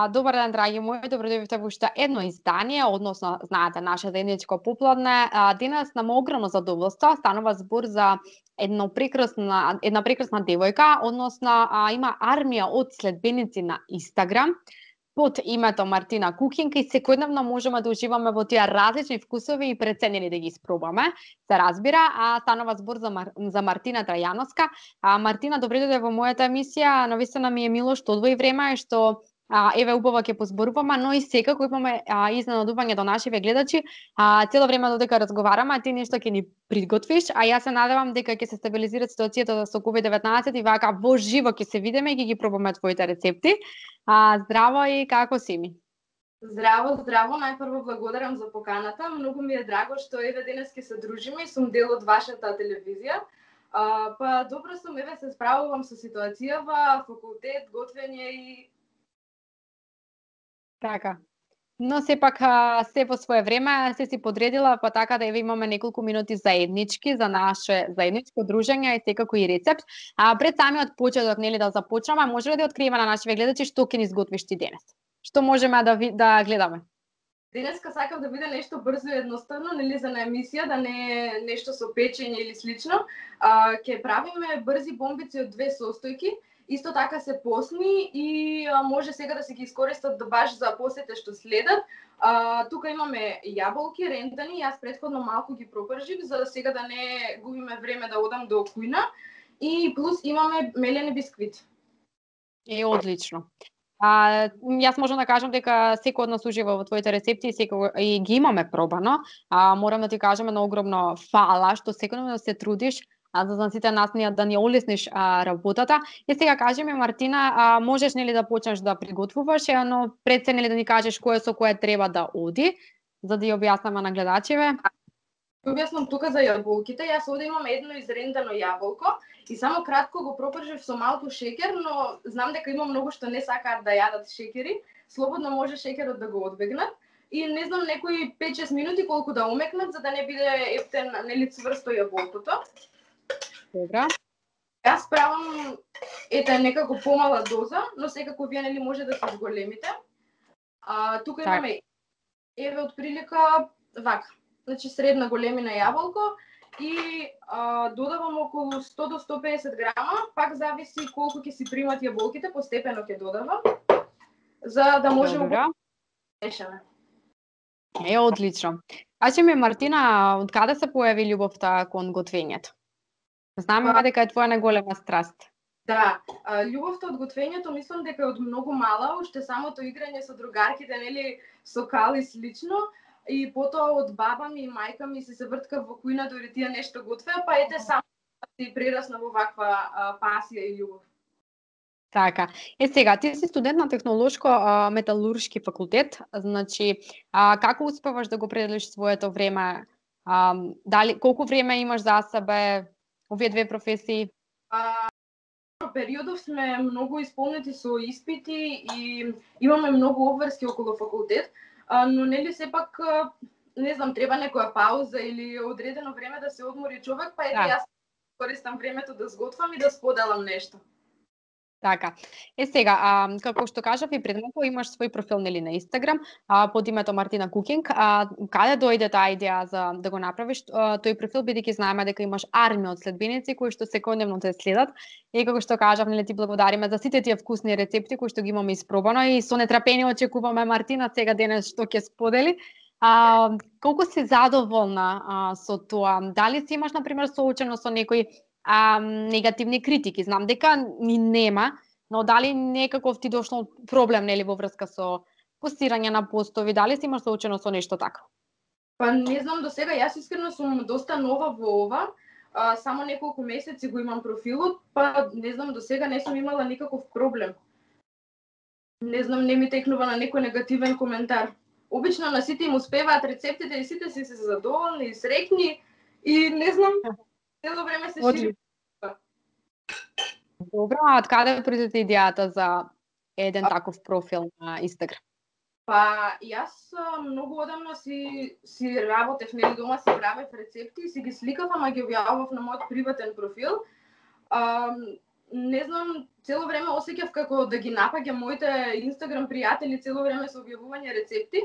Добар ден, драги мои, добродојавте во уште едно издание, односно, знаете, наше заедничко попладне. Денес нам огромно задоволство, станува збор за една прекрасна девојка, односно има армија од следбеници на Инстаграм под името Мартина Кукинг и секојдневно можеме да уживаме во тие различни вкусови и преценени да ги испробаме. Се разбира, станува збор за Мартина Трајановска. Мартина, добре дојде во мојата емисија. Навистина ми е мило што одвои време, што еве убаво ќе позборуваме, но и секако имаме изненадување до нашиве гледачи. Цело време додека разговараме, ти нешто ќе ни приготвиш, а јас се надевам дека ќе се стабилизира ситуацијата со COVID-19 и вака во живо ќе се видиме и ќе ги пробаме твоите рецепти. Здраво и како си ми? Здраво, здраво. Најпрво благодарам за поканата. Многу ми е драго што еве денес ќе се дружиме и сум дел од вашата телевизија. Па добро сум, еве се справувам со ситуацијава, факултет, готвење и така. Но сепак се во свое време се си подредила, па така да еве имаме неколку минути заеднички за наше заедничко дружење и секако и рецепт. Пред самиот почеток, нели да започнеме, може ли да откриеме на нашите гледачи што ќе ни изготвиш ти денес? Што можеме да гледаме? Денеска сакам да биде нешто брзо и едноставно, нели за на емисија, да не е нешто со печење или слично. Ќе правиме брзи бомбици од 2 состојки. Исто така се посни и може сега да се ги искористат баш за посете што следат. Тука имаме јаболки рентани, јас претходно малку ги пропржив за да сега да не губиме време да одам до кујна. И плюс имаме мелени бисквити. Одлично. Јас можам да кажам дека секој од нас ужива во твоите рецепти и ги имаме пробано. Морам да ти кажам едно огромно фала што секојдневно се трудиш за сите нас да ни олесниш работата. И сега кажи ми, Мартина, можеш нели да почнеш да приготвуваш, но пред се нели да ни кажеш кое со кое треба да оди, за да ја објаснеме на гледачиве. Објаснам тука за јаболките. Јас овде имам едно изрендано јаболко и само кратко го пропржив со малку шеќер, но знам дека има многу што не сакаат да јадат шеќери. Слободно може шеќерот да го одбегнат. И не знам некои 5-6 минути колку да омекнат за да не биде ептен, нели цврсто јаболкото. Добра. Јас правам некако помала доза, но секако вие нели може да се зголемите. Тука имаме еве од прилика вака. Значи средна големина јаболко и додавам околу 100 до 150 грама, пак зависи колку ќе си примат јаболките, постепено ќе додавам за да може да мешаме. Одлично. Кажи ми, Мартина, од каде се појави љубовта кон готвењето? Знаме дека е твоја најголема страст. Да, љубовта од готвењето мислам дека е од многу мала, уште самото играње со другарките, нели, со кал и слично, и потоа од баба ми и мајка ми се врткав во кујна дори тие нешто готвеа, па ете само си прерасна во ваква пасија и љубов. Така. Сега, ти си студент на технолошко-металуршки факултет, значи, како успеваш да го пределиш своето време? Колку време имаш за себе овие две професии? Периодов сме многу исполнети со испити и имаме многу обврски околу факултет, но нели сепак, не знам, треба некоја пауза или одредено време да се одмори човек, па ете јас користам времето да сготвам и да споделам нешто. Така. Сега, како што кажав и пред малку, имаш свој профил нели на Инстаграм под името Мартина Кукинг. Каде дојде таа идеја за да го направиш тој профил, бидејќи знаеме дека имаш армија од следбеници кои што секојдневно те следат. И како што кажав, нели ти благодариме за сите тие вкусни рецепти кои што ги имаме испробано и со нетрпение очекуваме Мартина сега денес што ќе сподели. Колку си задоволна со тоа? Дали си имаш на пример соочено со некои негативни критики? Знам дека ни нема, но дали некаков ти дошло проблем нели во врска со постирање на постови? Дали си имаш соочено со нешто така? Па не знам до сега, јас искрено сум доста нова во ова. Само неколку месеци го имам профилот, па не знам до сега не сум имала никаков проблем. Не знам, не ми текнува на некој негативен коментар. Обично на сите им успеваат рецептите и сите си се задоволни и среќни и не знам, цело време се шири. Добро, а од каде произоде идејата за еден таков профил на Инстаграм? Па јас многу одамна си работев, нели дома си правев рецепти и си ги сликав, ама ги објавав на мојот приватен профил. не знам, цело време осеќав како да ги напаѓам моите Инстаграм пријатели цело време со објавување рецепти,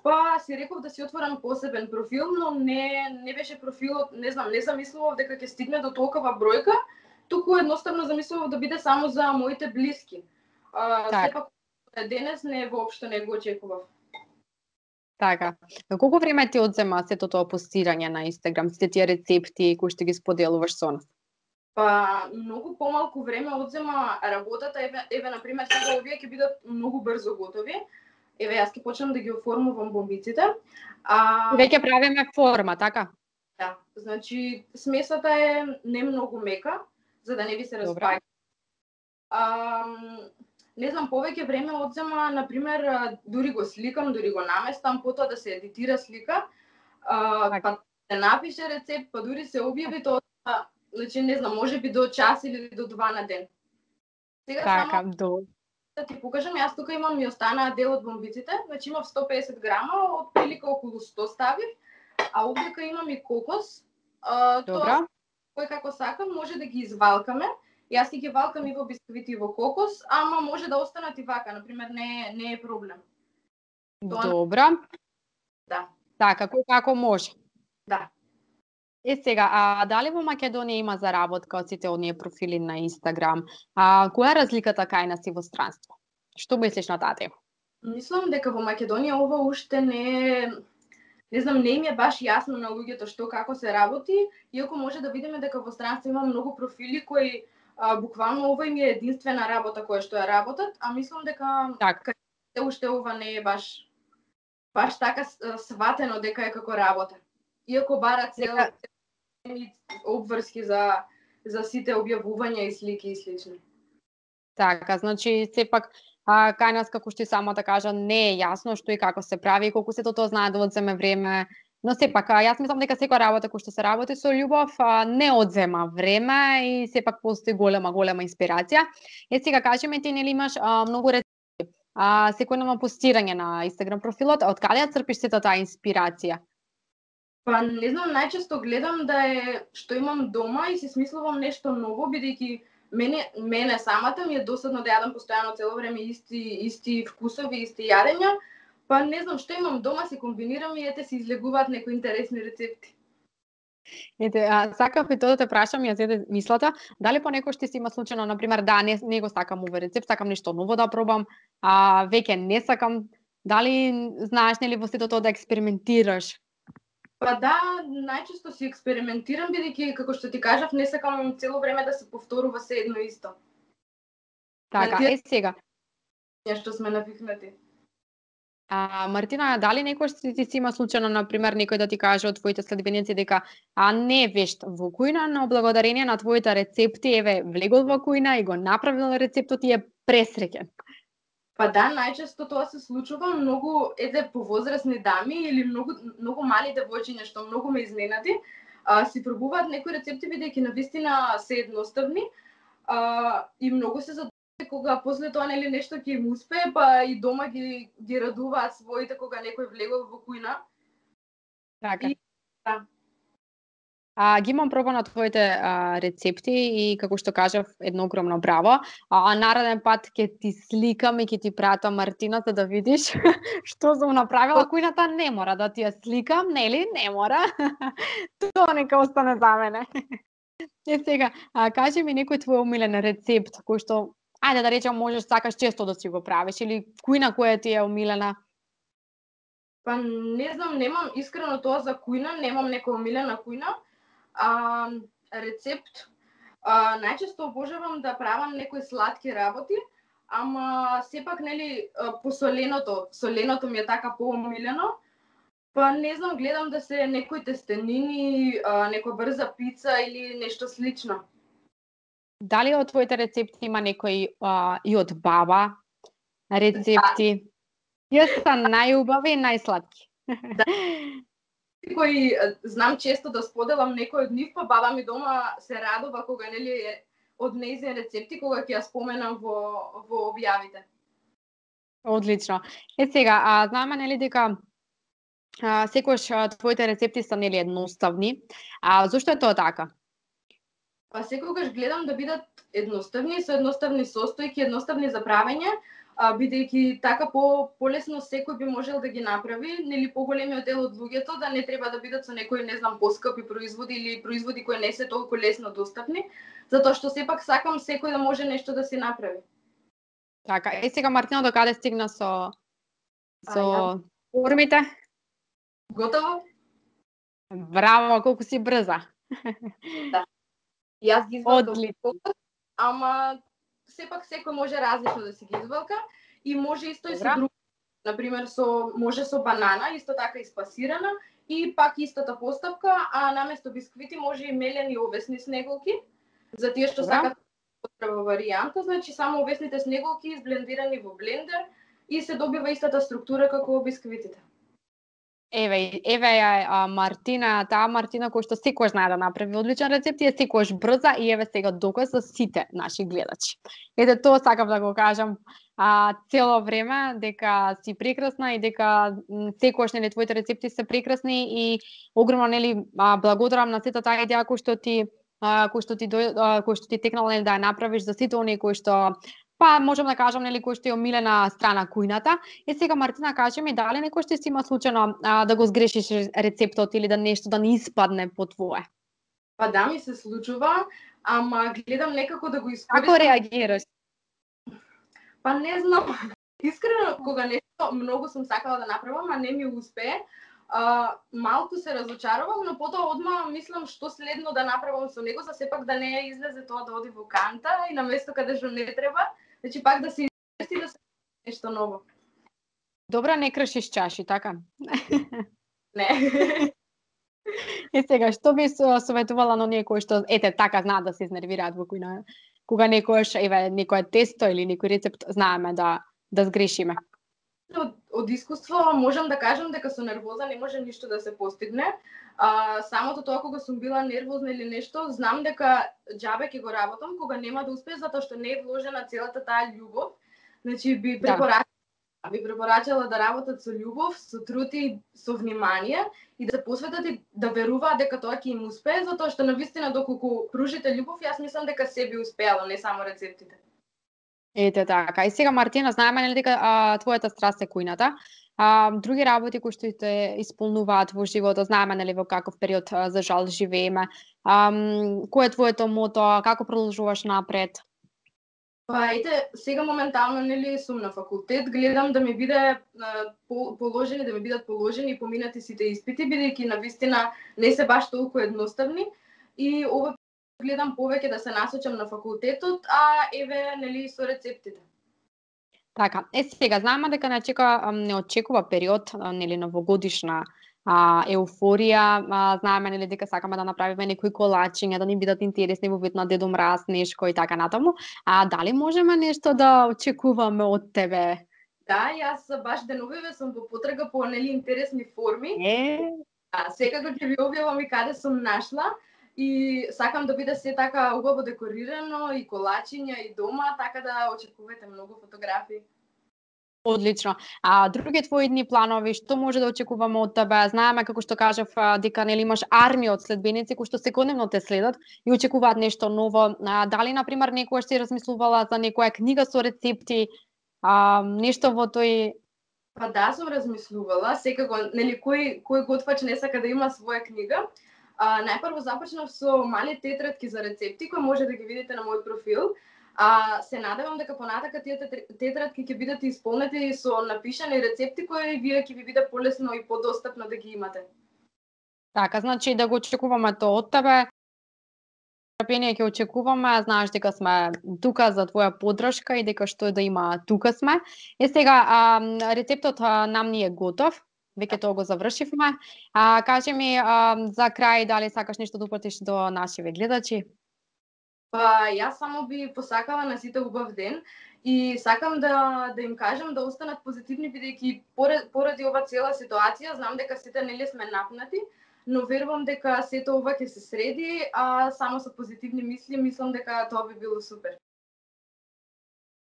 па си реков да си отворам посебен профил, но не беше профилот, не знам, не замислував дека ќе стигне до толкова бројка, туку едноставно замислував да биде само за моите блиски. Сепак денес воопшто не го очекував. Така. Колку време ти одзема сето тоа постирање на Инстаграм, сите тие рецепти кои што ги споделуваш со нас? Па многу помалку време одзема работата, еве на пример сега овие ќе бидат многу брзо готови. Еве јас ќе почнам да ги оформувам бомбиците. Веќе правиме форма, така? Да, значи смесата е не многу мека, за да не ви се распаѓа. Не знам, повеќе време одзема, на пример, дури го сликам, дури го наместам, потоа да се едитира слика, па се напише рецепт, па дури се објави тоа, значи не знам, можеби до час или до 2 на ден. Сега така, само да ти покажам, јас тука имам, ми останаа дел од бомбиците, значи имав 150 грама, од прилика околу 100 ставив, а овдека имам и кокос. Добра. Кој како сакам, може да ги извалкаме. Јас ги валкам и во бисквити и во кокос, ама може да останат и вака, например, не е проблем. Добра. Да. Така, кој како може. Да. Сега, дали во Македонија има заработка од сите оние профили на Инстаграм? Која е разликата кај нас и во странство? Што мислиш на таа тема? Мислам дека во Македонија ова уште не знам, не им е баш јасно на луѓето што како се работи, иако може да видиме дека во странство има многу профили кои буквално ова им е единствена работа која што ја работат, а мислам дека уште ова не е баш така сватено дека е како работа. Иако барат обврски за сите објавувања и слики и слично. Така, значи сепак кај нас, како што и самата кажа, не е јасно што и како се прави, колку сето тоа знае да одземе време. Но сепак, јас мислам дека секоја работа која што се работи со љубов не одзема време и сепак постои голема инспирација. Сега кажи ми, ти нели имаш многу рецепти, секојдневно постирање на Инстаграм профилот, од каде ја црпиш сета таа инспирација? Па не знам, најчесто гледам да е што имам дома и си смислувам нешто ново, бидејќи мене самата ми е досадно да јадам постојано цело време исти вкусови, исти јадења. Па не знам што имам дома, се комбинирам и ете се излегуваат некои интересни рецепти. Сакав и тоа да те прашам, ја зеде мислата, дали понекогаш ти си има случајно, например, да, не го сакам овој рецепт, сакам нешто ново да пробам, веќе не сакам, дали знаеш нели во сето тоа да експериментираш? Па да, најчесто си експериментирам, бидејќи, како што ти кажав, не сакам цело време да се повторува се едно исто. Така, сега. Што сме навикнати. Мартина, дали некојаш ти си има случајно, например, некој да ти каже од твоите следбеници дека не е вешт во кујна, но благодарение на твоите рецепти, еве, влегол во кујна и го направил рецептот и е пресреќен? Па да, најчесто тоа се случува, многу повозрасни дами или многу мали девојчиња што многу ме изненади, си пробуваат некои рецепти бидејќи навистина се едноставни, и многу се задоволни кога после тоа нели нешто ќе им успее, па и дома ги радуваат своите кога некој влегол во кујна. Така. Ги имам пробано твоите рецепти и како што кажав, едно огромно браво. Нареден пат ќе ти сликам и ќе ти пратам, Мартина, за да видиш што сум направила. Кујната не мора да ти ја сликам, нели? Не мора. Тоа нека остане за мене. Сега, кажи ми некој твој омилен рецепт кој што, ајде да речем, можеш сакаш често да си го правиш, или кујна која ти е омилена? Па не знам, немам искрено тоа за кујна, немам некоја омилена кујна. Рецепт, најчесто обожавам да правам некои сладки работи, ама сепак нели соленото ми е така поомилено. Па не знам, гледам да се некои тестенини, некоја брза пица или нешто слично. Дали од твоите рецепти има некои и од баба рецепти? Јас сум најубави и најсладки. Да. Кои знам често да споделам некој од нив, па баба ми дома се радува кога нели од нејзин рецепти кога ќе ја споменам во објавите. Одлично. Сега, знаме нели дека секогаш твоите рецепти се нели едноставни. Зошто е тоа така? Па секогаш гледам да бидат едноставни, со едноставни состојки, едноставни за правење, бидејќи така полесно секој би можел да ги направи, нели поголемиот дел од луѓето да не треба да бидат со некои, не знам, поскапи производи или производи кои не се толку лесно достапни, затоа што сепак сакам секој да може нешто да си направи. Така, сега Мартина до каде стигна со формите? Готово? Браво, колку си брза. Да. Јас ги извалкам, Одлично. ама сепак секој може различно да си ги извалка и може исто и со други. Например, може со банана, исто така испасирана и пак истата постапка, а наместо бисквити може и мелени овесни снеголки. За тие што сакат потреба варијанта, значи само овесните снеголки изблендирани во блендер и се добива истата структура како бисквитите. Еве ја Мартина, таа Мартина која што секојаш знае да направи одличен рецепт и е секојаш брза и еве сега доказ за сите наши гледачи. Ете тоа сакам да го кажам цело време, дека си прекрасна и дека секојаш нели твоите рецепти се прекрасни и огромно нели благодарам на сета таа идеја кој што ти текнала нели да ја направиш за сите оние кои што можам да кажам нели кој што е омилена страна кујната. И сега Мартина кажи ми дали некој што си има случајно да го сгрешиш рецептот или да нешто да не испадне по твое? Па да, ми се случува, ама гледам некако да го искористам. Како реагираш? Па не знам. Искрено, кога нешто многу сум сакала да направам, а не ми успее, малку се разочарувам, но потоа одма мислам што следно да направам со него, за сепак да не излезе тоа да оди во канта и на место каде што не треба, значи пак да се инвести да се нешто ново. Добро, не кршиш чаши, така? Не. И сега, што би советувала на оние кои што така знаат да се изнервираат во кујна, кога некое тесто или некој рецепт знаеме да сгрешиме? Од искуство можам да кажам дека со нервоза не може ништо да се постигне. Самото тоа кога сум била нервозна или нешто, знам дека џабе ќе го работам кога нема да успее затоа што не е вложена целата таа љубов. Значи би препорачала да работат со љубов, со труд и со внимание и да се посветат и да веруваат дека тоа ќе им успее, затоа што навистина доколку пружите љубов, јас мислам дека се би успеало, не само рецептите. Ете така. И сега Мартина, знаеме нели дека твојата страст е кујната. Други работи кои што те исполнуваат во животот, знаеме нели во каков период за жал живееме. Кој е твоето мото, како продолжуваш напред? Па ете, сега моментално нели сум на факултет, гледам да ми биде бидат положени и поминати сите испити, бидејќи навистина не се баш толку едноставни и ова гледам повеќе да се насочам на факултетот, а еве нели со рецептите. Така, сега знаеме дека не очекува период нели новогодишна еуфорија, знаеме нели дека сакаме да направиме некои колачиња, да ни бидат интересни во вид на Дедо Мраз, Нешко и така натаму. Дали можеме нешто да очекуваме од тебе? Да, јас баш деновиве сум во потрага по нели интересни форми. Секако ќе ви објавам и каде сум нашла. И сакам да биде се така убаво декорирано и колачиња и дома, така да очекувате многу фотографии. Одлично. Други твои дни планови, што може да очекуваме од тебе? Знаеме како што кажав дека нели имаш армија од следбеници кои што секојдневно те следат и очекуваат нешто ново. Дали на пример некогаш си размислувала за некоја книга со рецепти, нешто во тој? Па да, сум размислувала, секако нели кој готвач не сака да има своја книга. Најпрво започнав со мали тетрадки за рецепти кои може да ги видите на мојот профил. Се надевам дека понатака тие тетрадки ќе бидат исполнети со напишани рецепти кои вие ќе ви биде полесно и подостапно да ги имате. Така, значи да го очекуваме тоа од тебе. Трпение ќе очекуваме, знаеш дека сме тука за твоја поддршка и дека што да има тука сме. Сега рецептот нам ни е готов. Веќе тоа го завршивме. Кажи ми за крај дали сакаш нешто да упатиш до нашиве гледачи? Па јас само би посакала на сите убав ден и сакам да им кажам да останат позитивни бидејќи поради ова цела ситуација знам дека сите нели сме напнати, но верувам дека сето ова ќе се среди, а само со позитивни мисли мислам дека тоа би било супер.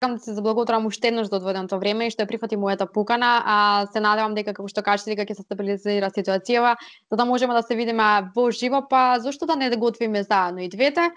Сакам да се заблагодарам уште еднаш за одвоеното време и што ја прифати мојата покана. Се надевам дека како што кажете дека ќе се стабилизира ситуацијава, за да можеме да се видиме во живо, па зошто да не готвиме заедно и двете.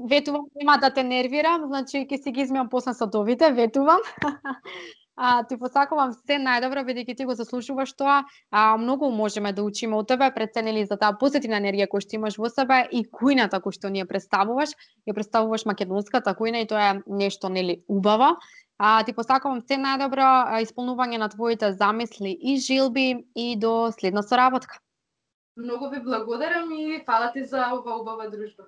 Ветувам, нема да те нервирам, значи ќе си ги измиам после садовите, ветувам. Ти посакувам се најдобро, бидејќи ти го заслужуваш тоа. Многу можеме да учиме од тебе, преценили за таа позитивна енергија која што имаш во себе и кујната која што ни ја представуваш македонската кујна и тоа е нешто нели убаво. Ти посакувам се најдобро, исполнување на твоите замисли и желби и до следна соработка. Многу ви благодарам и фала ти за ова убава дружба.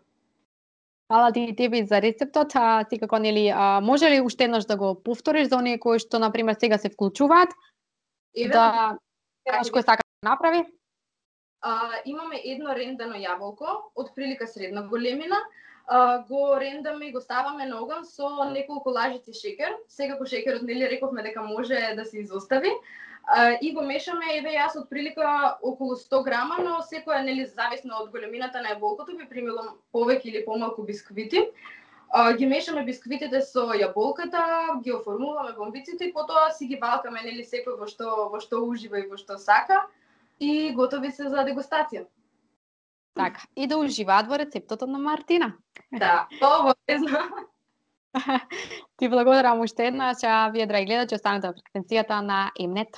Фала ти и тебе за рецептот. Ти како нели може ли уште еднаш да го повториш за оние кои што на пример сега се вклучуваат? Да знаеш кој сака да направи? Имаме едно рендано јаболко, од прилика средна големина. Го рендаме и го ставаме на оган со неколку лажици шеќер. Секако шеќерот нели рековме дека може да се изостави. И го мешаме, еве јас од прилика околу 100 грама, но секоја нели зависно од големината на јаболкото би примилам повеќе или помалку бисквити. Ги мешаме бисквитите со јаболката, ги оформуваме бомбиците и потоа си ги валкаме нели секој во што ужива и во што сака и готови се за дегустација. Така, и да уживаат во рецептот на Мартина. Да, обавезно. Ти благодарам уште еднаш, вие драги гледачи останете во фреквенцијата на Mnet.